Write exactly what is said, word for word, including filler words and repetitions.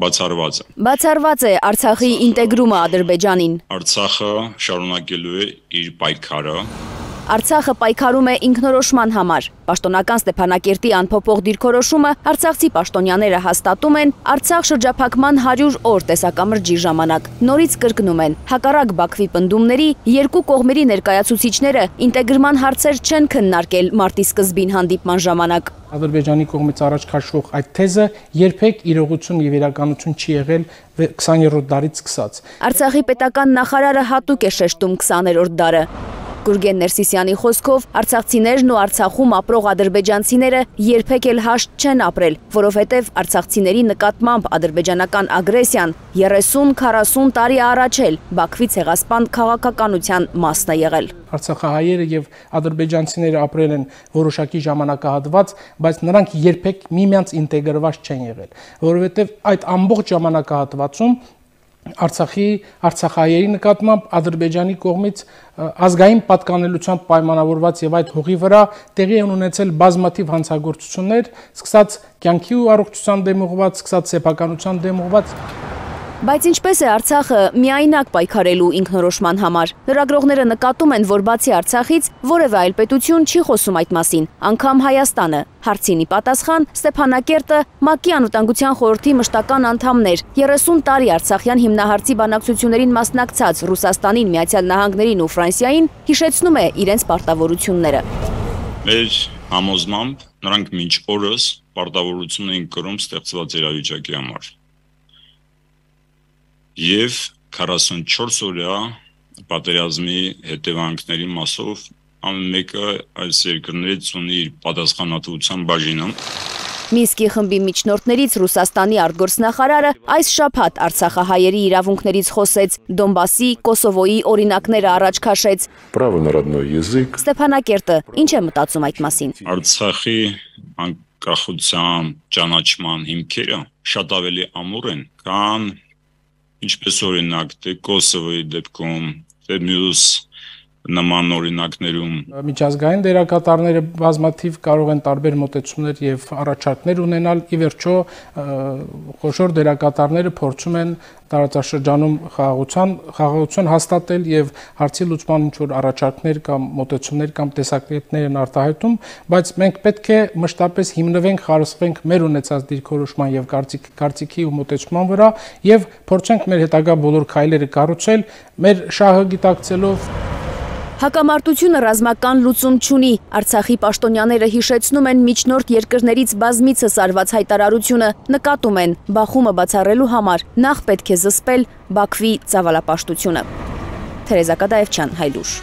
բացառված է։ Բացառված է Արցախի ինտեգրումը Ադրբեջանին։ Արցախը շարունակելու է իր պայքարը։ Արցախը պայքարում է ինքնորոշման համար։ Պաշտոնական Ստեփանակերտի անփոփոխ դիրքորոշումը արցախցի պաշտոնյաները հաստատում են Արցախ շրջափակման հարյուր օր տեսակամրջի ժամանակ։ Նորից կրկնում են, հակառակ Բաքվի պնդումների, երկու կողմերի ներկայացուցիչները ինտեգրման հարցեր չեն քննարկել մարտի սկզբին հանդիպման ժամանակ։ Ադրբեջանի կողմից առաջ քաշվող այդ թեզը երբեք իրողություն եւ իրականություն չի եղել քսաներորդ դարից սկսած։ Արցախի պետական նախարարը հատուկ է շեշտում քսաներորդ դարը։ Գուրգեն Ներսիսյանի խոսքով արցախցիներն ու Արցախում ապրող ադրբեջանցիները երբեք էլ հաշտ չեն ապրել, որովհետև արցախցիների նկատմամբ ադրբեջանական ագրեսիան երեսուն քառասուն տարի առաջ էլ Բաքվի ցեղասպան քաղաքականության մասն է եղել։ Արցախահայերը եւ ադրբեջանցիները ապրել են որոշակի ժամանակահատված, բայց նրանք երբեք միմյանց ինտեգրված չեն եղել, որովհետև այդ ամբողջ ժամանակահատվածում Արցախի արցախահայերի նկատմամբ Ադրբեջանի կողմից ազգային պատկանելությամբ պայմանավորված եւ այդ հողի վրա տեղի են ունեցել բազմաթիվ հանցագործություններ, սկսած կյանքի ու առողջության դեմ ուղղված, սկսած սեփականության դեմ ուղղված։ Բայց ինչպես է Արցախը միայնակ պայքարելու ինքնորոշման համար։ Լրագրողները նկատում են, որ բացի Արցախից որևէ այլ պետություն չի խոսում այդ մասին, անգամ Հայաստանը։ Հարցինի պատասխան Ստեփանակերտը ՄԱԿ-ի անվտանգության խորհրդի մշտական անդամներ, երեսուն տարի Արցախյան հիմնահարցի բանակցություններին մասնակցած Ռուսաստանին, Միացյալ Նահանգներին ու Ֆրանսիային հիշեցնում է իրենց պարտավորությունները։ Մեր համոզմամբ նրանք մինչ օրս պարտավորություն էին կրում ստեղծված իրավիճակի համար։ Եվ քառասունչորս օրյա պատերազմի հետևանքների մասով ամեն մեկը այս երկրներից ունի իր պատասխանատվության բաժինը։ Մինսկի խմբի միջնորդներից Ռուսաստանի արտգործնախարարը այս շաբաթ արցախահայերի իրավունքներից խոսեց, Դոնբասի, Կոսովոյի օրինակները առաջ քաշեց։ Право на родной язык։ Ստեփանակերտը ինչ է մտածում այդ մասին։ Արցախի անկախության ճանաչման հիմքերը շատ ավելի ամուր են, քան ինչպես օրինակ թե Կոսովոյի դեպքում, թե մյուս նման օրինակներում։ Միջազգային դերակատարները բազմաթիվ կարող են տարբեր մոտեցումներ եւ առաջարկներ ունենալ, ի վերջո խոշոր դերակատարները փորձում են տարածաշրջանում խաղաղության խաղաղություն հաստատել եւ հարցի լուծման ինչ որ առաջարկներ կամ մոտեցումներ կամ տեսակետներ են արտահայտում, բայց մենք պետք է մշտապես հիմնվենք, խարսխվենք մեր ունեցած դիրքորոշման եւ կարծիքի ու մոտեցման վրա եւ փորձենք մեր հետագա բոլոր քայլերը կառուցել մեր շահը գիտակցելով։ Հակամարտությունը ռազմական լուծում չունի։ Արցախի պաշտոնյաները հիշեցնում են միջնորդ երկրներից բազմիցս արված հայտարարությունը, նկատում են բախումը բացառելու համար նախ պետք է զսպել Բաքվի ծավալապաշտությունը։ Թերեզա Կադաևչյան, Հայլուշ։